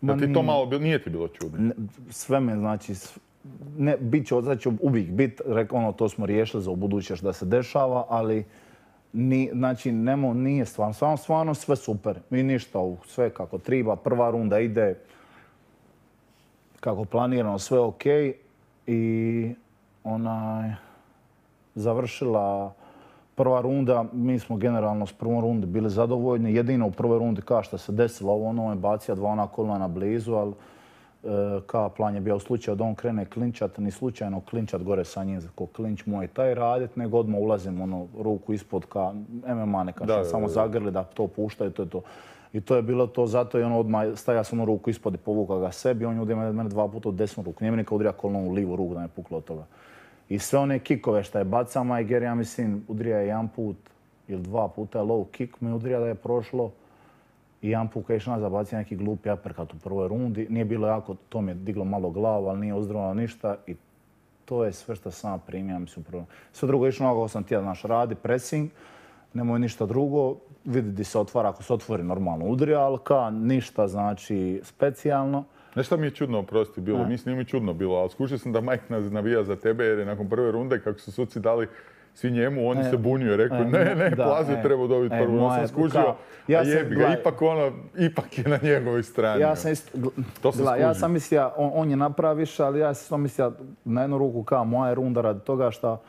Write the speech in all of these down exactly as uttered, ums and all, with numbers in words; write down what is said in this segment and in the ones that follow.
Da ti to malo bilo, nije ti bilo čudno? Sve me, znači, ne, bit će, sad će uvijek bit, rekao ono, to smo riješili za ubuduće da se dešava, ali ni, znači, nemo, nije stvarno, stvarno, stvarno sve super. I ništa, sve kako triba, prva runda ide kako planirano, sve ok. I onaj, završila prva runda, mi smo generalno s prvom rundi bili zadovoljni. Jedino u prvoj rundi kao što se desilo, ovo ono je bacio dva ona kolana blizu, ali e, kao plan je bio u slučaju da on krene klinčat, ni slučajno klinčat gore sa njim, ko klinč moj taj radit, nego odmah ulazim ono, ruku ispod ka M M A neka što samo zagrli da to puštaju, to je to. I to je bilo to, zato je on odmah staja sam onu ruku ispod i povuka ga sebi, on je udio mene dva puta u desnu ruku. Nije mi nikad udrija kolonom u livu ruku da me puklo od toga. I sve one kikove što je bacao Majger, ja mislim, udrija je jedan put ili dva puta low kick, mi udrija da je prošlo. I jedan put kad je išao nazad bacio neki glupi uppercut u prvoj rundi. Nije bilo jako, to mi je diglo malo glavu, ali nije uzdravilo ništa. I to je sve što sam primio, mislim, prvo. Sve drugo je išlo ono kako sam tijel, naš radi, pressing, nemoj ništa drugo. Vidi di se otvara, ako se otvori normalno udrija, ali ka ništa, znači, specijalno. Znaš šta mi je čudno, oprosti, bilo? Mislim, nije mi čudno bilo, ali skušao sam da Mike navija za tebe jer je nakon prve runde, kako su suci dali svi njemu, on se bunio i rekao, ne, ne, Plazio treba dobiti prvu. Ja sam skužio, a jebi ga, ipak ono, ipak je na njegovoj strani. Ja sam isto, ja sam mislio, on je napraviš, ali ja sam mislio na jednu ruku kao moja runda radi toga što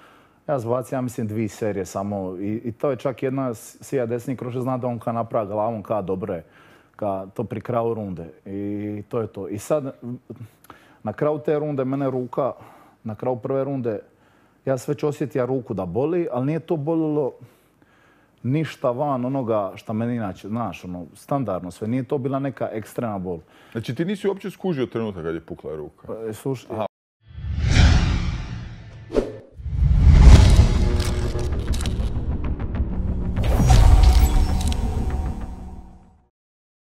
ja zbacio, ja mislim, dvije serije samo. I to je čak jedna sija desni kroše zna da on ka napravi glavom ka dobre. Ka to pri kraju runde. I to je to. I sad, na kraju te runde, mene ruka, na kraju prve runde, ja sam već osjetio ruku da boli, ali nije to bolilo ništa van onoga što meni inače, znaš, ono, standardno sve. Nije to bila neka ekstremna bol. Znači ti nisi uopće skužio trenutak kad je pukla ruka? Slušaj,